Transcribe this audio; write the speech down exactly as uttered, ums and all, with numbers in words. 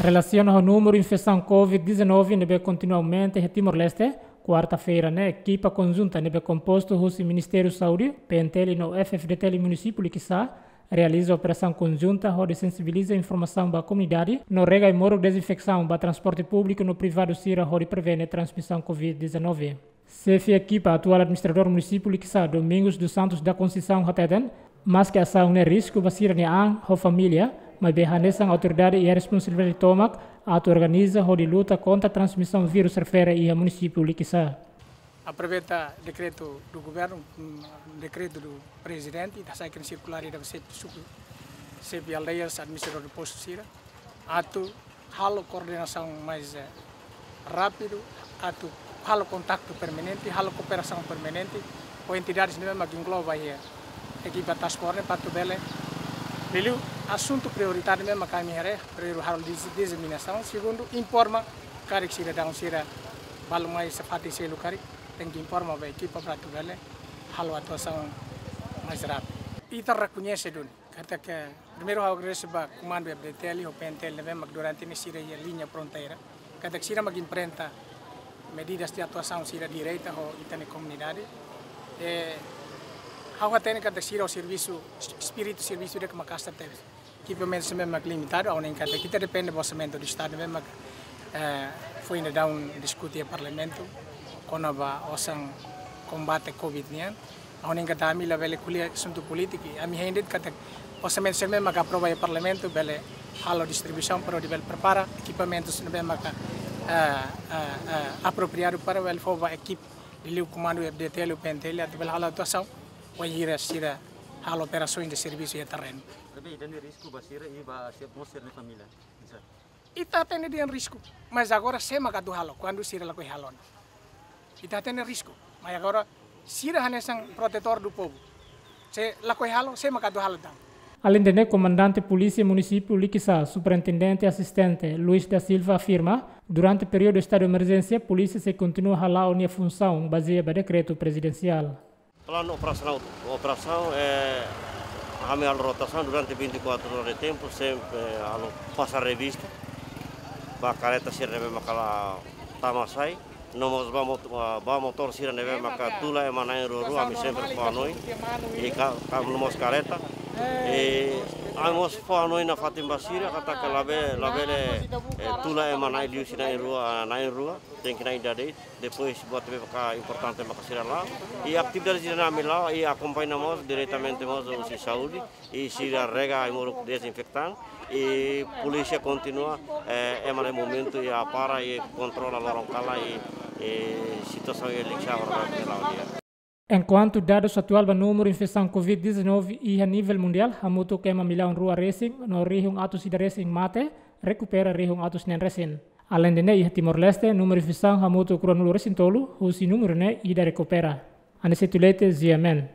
Relasiona ho númeru infesaun COVID dezanove ne'ebé kontinua aumenta iha Timor-Leste, kuarta-feira ne'e ekipa konjunta ne'ebé kompostu husi Ministériu Saúde, P N T L no F F D T L Munisípiu Likisá realiza operasaun konjunta hodi sensibiliza informasaun ba komunidade no rega ai-moruk dezinfesaun ba transporte públiku no privadu sira hodi prevene transmisaun COVID dezanove. Xefe ekipa atuál administradór munisípiu Likisá, Domingos dos Santos da Conceição hateten, maske asaun ne'e risku ba sira-nia an ho família, maibé hanesan autoridade iha responsabilidade tomak atu organiza hodi luta kontra transmisaun vírus refere iha munisípiu Likisá. Aproveita dekretu do governu, mm, dekretu do prezidente, ita hasai sirkulár ida ba xefe suku, xefe aldeias, administradór postu sira, atu halo koordenasaun mais, eh, rápidu, atu halo kontaktu permanente, halo kooperasaun permanente ho entidades ne'ebé mak engloba iha ekipa task force ne'e, para atu bele, liuliu asuntu prioridade ne'ebé mak ami haree, primeiru halo diz-, diseminasaun, segundu informa karik sidadaun sira balu mai iha fatin seluk karik, tenke informa ba ekipa para atu bele halo atuasaun mais rápidu. Ita rekoñese duni katak, primeiru ha'u agradese ba komandu F D T L ho P N T L ne'ebé mak durante ne'e sira iha liña fronteira, katak sira mak enfrenta medidas de atuasaun sira direta ho ita-nia komunidade. E ha'u hatene katak sira ho servisu, espíritu servisu ida-ne'e maka'as tebes. Ekipamentu sira ne'ebé mak limitadu, ha'u hanoin katak ita depende ba orsamentu do Estadu ne'ebé mak, eh, foin daudaun diskute iha Parlamentu kona-ba osan kombate COVID nian. Ha'u hanoin katak ami labele ko'alia asuntu polítiku, ami hein de'it katak orsamentu sira ne'ebé mak aprova iha Parlamentu bele halo distribuisaun para hodi bele prepara ekipamentu sira ne'ebé mak, eh, eh, eh, apropriadu para bele fó ba ekipa liuliu komandu F D T L, P N T L atu bele halo atuasaun, wainhira sira halo operasaun de servisu iha terrenu. Maibé ida-ne'e risku ba sira i ba sira, mós sira-nia família. Ita hatene dehan risku, mas agora sé mak atu halo, kuandu sira lakohi halo ona? Ita hatene risku, mas agora sira hanesan protetór do povu. Se lakohi halo, sé mak atu halo tan? Aleinde ne'e, Komandante Polísia Munisípiu Likisá, Superintendente Asistente Luis da Silva afirma, durante períodu estadu emerjénsia, polísia sei kontinua hala'o nia funsaun bazeia ba dekretu prezidensiál. Planu operasionál, operasaun, eh, ami halo rotasaun durante vinte e quatro horas de tempu, sempre halo fase revista ba kareta sira ne'ebé maka la tama sai. No mós ba mot-, ba motór sira ne'ebé maka tula ema na'in-rua-rua, ami sempre fó hanoin. I ka, ka no mós kareta. I ami mós fó hanoin nafatin ba sira katak labe, labele, eh, tula ema na'in, liuhusi na'in-rua, na'in-rua, tenke na'in ida de'it. Depois buat ne'ebé maka importante maka sira la'o. I atividade sira-ne'e ami la'o, i akompaña mós diretamente mós husi saúde, i sira rega ai-moruk dezinfetan, i polísia kontinua, eh, ema ne'e momentu i apara i kontrola loron kalan i, i situasaun iha Likisá agora ne'e la'o di'ak. Enkuantu dadus atuál ba númeru infesaun COVID dezanove iha nivel mundiál, hamutuk ema millaun rua resin no rihun atus ida resin mate, rekupera rihun atus neen resin. Aleinde ne'e, iha Timor-Leste, númeru infesaun hamutuk ruanulu resin tolu, husi númeru ne'e ida rekupera. Aniceto Leite, G M N.